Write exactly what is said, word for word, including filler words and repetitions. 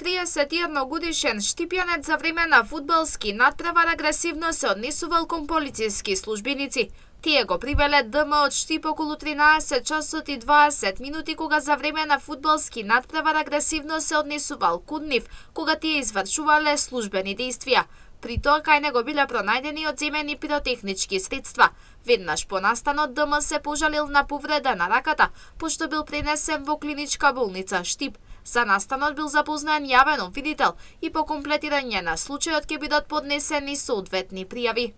триесет и едно годишен штипјанец за време на фудбалски надпревар агресивно се однесувал кон полициски службеници. Тие го привеле ДМ од Штип околу тринаесет часот и дваесет минути, кога за време на фудбалски надпревар агресивно се однесувал кон нив, кога тие извршувале службени действија. При тоа кај него биле пронајдени одземени пиротехнички средства. Веднаш по настанот ДМ се пожалил на повреда на раката, пошто бил пренесен во клиничка болница Штип. За настанот бил запознаен јавен обвинител и по комплетирање на случајот ќе бидат поднесени соодветни пријави.